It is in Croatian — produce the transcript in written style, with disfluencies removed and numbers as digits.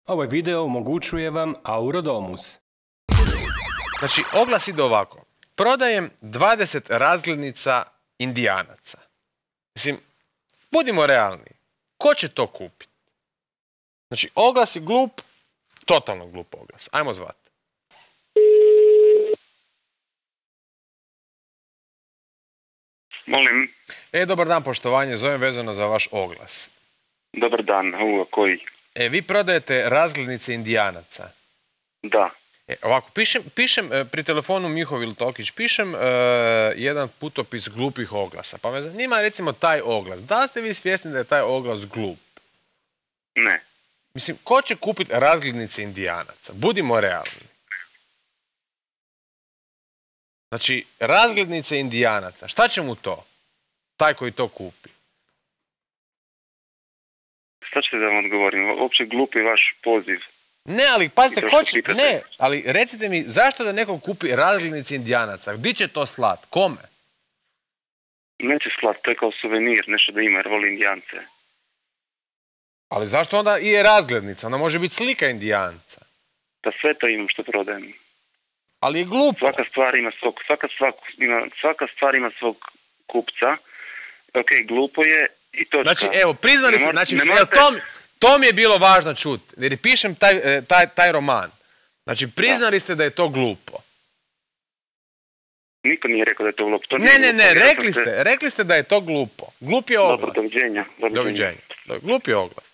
Ovaj video omogućuje vam Aurodomus. Znači, oglas ide ovako. Prodajem 20 razglednica Indijanaca. Mislim, budimo realni. Ko će to kupiti? Znači, oglas je glup, totalno glup oglas. Ajmo zvat. Molim. Dobar dan, poštovanje, zovem vezano za vaš oglas. Dobar dan, koji? Vi prodajete razglednice Indijanaca. Da. Ovako, pišem pri telefonu Mihovil Tokić, pišem jedan putopis glupih oglasa. Pa me zanima recimo taj oglas. Da li ste vi svjesni da je taj oglas glup? Ne. Mislim, ko će kupiti razglednice Indijanaca? Budimo realni. Znači, razglednice Indijanaca, šta će mu to? Taj koji to kupi. Šta ćete da vam odgovorim? Uopće glup je vaš poziv. Ne, ali pazite, ko će... Ne, ali recite mi, zašto da neko kupi razglednice Indijanaca? Gdje će to slat? Kome? Neće slat, to je kao suvenir, nešto da ima, jer voli Indijance. Ali zašto onda i je razglednica? Ona može biti slika Indijanca. Da sve to imam što prodajem. Ali je glupo. Svaka stvar ima svog kupca. Ok, glupo je i točka. Znači, evo, priznali ste, znači, to mi je bilo važno čuti, jer pišem taj roman. Znači, priznali ste da je to glupo. Niko nije rekao da je to glupo. Ne, rekli ste da je to glupo. Glup je oglas. Dobro, doviđenja. Doviđenja. Glup je oglas.